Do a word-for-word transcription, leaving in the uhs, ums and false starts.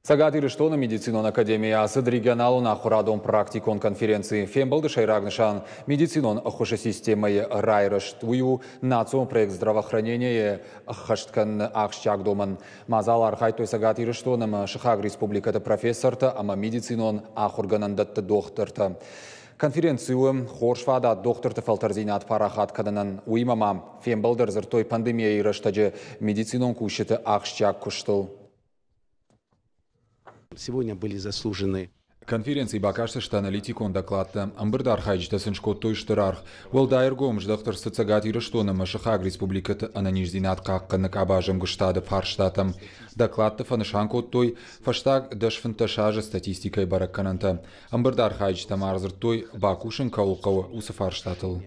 Цӕгат Ирыстоны медицинон академийы ацыд регионалон ахуырадон практикон конференци. Фембӕлды сӕйраг нысан медицинон ӕххуысы системӕйы райрӕзт. Уый у национ проект здравоохранение ӕххӕст кӕныны ахсджиаг домӕн. Мадзалы архайдтой Цӕгат Ирыстон ӕмӕ сыхаг республикӕты профессортӕ ӕмӕ медицинон ахуыргӕнӕндӕтты дохтыртӕ. Конференци у хорз фадат дохтырты фӕлтӕрдзинад парахат кӕнынӕн. Уыимӕ ма фембӕлды ӕрдзырдтой пандемияйы рӕстӕджы медицинон кусджыты ахсджиаг куыстыл. Сегодня были заслужены. Конференцийы бакастысты аналитикон докладтӕ. Ӕмбырды архайджытӕ сын скодтой стыр аргъ. Уӕлдай ӕргом здӕхт ӕрцыд Цӕгат Ирыстон ӕмӕ сыхаг республикӕты ӕнӕниздзинад хъахъхъӕныны къабазы ӕмгуыстады фарстатӕм. Докладты фӕнысан кодтой фӕстаг дӕс-фынддӕс азы статистикӕйы бӕрӕггӕнӕнтӕ. Ӕмбырды архайджытӕ ма ӕрдзырдтой, бакусын кӕуыл хъӕуы, уыцы фарстатыл.